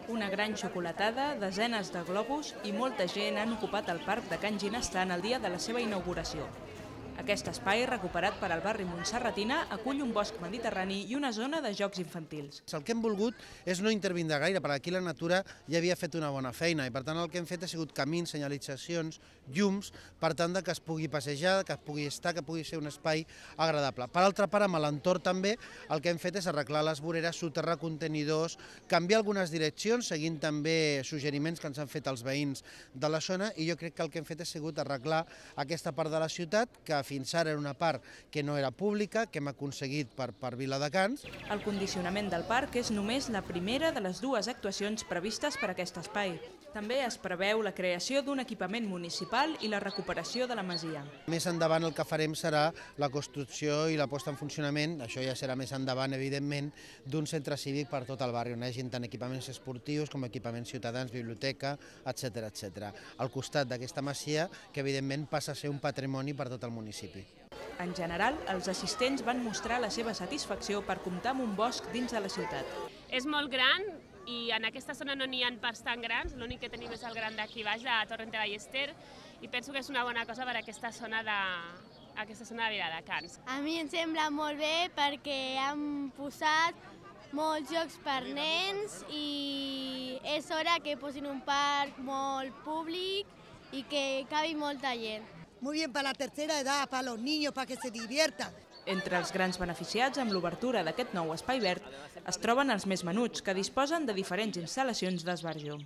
Una gran xocolatada, desenes de globus i molta gent han ocupat el parc de Can Ginestar el dia de la seva inauguració. Aquest espai, recuperat per al barri Montserratina, acull un bosc mediterrani i una zona de jocs infantils. El que hem volgut és no intervindre gaire, perquè aquí la natura ja havia fet una bona feina i per tant el que hem fet ha sigut camins, senyalitzacions, llums, per tant que es pugui passejar, que es pugui estar, que pugui ser un espai agradable. Per altra part, amb l'entorn també el que hem fet és arreglar les voreres, soterrar contenidors, canviar algunes direccions, seguint també suggeriments que ens han fet els veïns de la zona, i jo crec que el que hem fet ha sigut arreglar aquesta part de la ciutat, que fins ara era una part que no era pública, que hem aconseguit per Viladecans. El condicionament del parc és només la primera de les dues actuacions previstes per aquest espai. També es preveu la creació d'un equipament municipal i la recuperació de la masia. Més endavant el que farem serà la construcció i la posta en funcionament, això ja serà més endavant, evidentment, d'un centre cívic per tot el barri, on hi hagi tant equipaments esportius com equipaments ciutadans, biblioteca, etc. Al costat d'aquesta masia, que evidentment passa a ser un patrimoni per tot el municipi. En general, els assistents van mostrar la seva satisfacció per comptar amb un bosc dins de la ciutat. És molt gran i en aquesta zona no n'hi ha parcs tan grans, l'únic que tenim és el gran d'aquí baix, de Torrent de Ballester, i penso que és una bona cosa per aquesta zona de Viladecans. A mi em sembla molt bé perquè han posat molts jocs per nens i és hora que posin un parc molt públic i que cabi molta gent. Muy bien para la tercera edad, para los niños, para que se diviertan. Entre els grans beneficiats amb l'obertura d'aquest nou espai verd es troben els més menuts, que disposen de diferents instal·lacions d'esbarjo.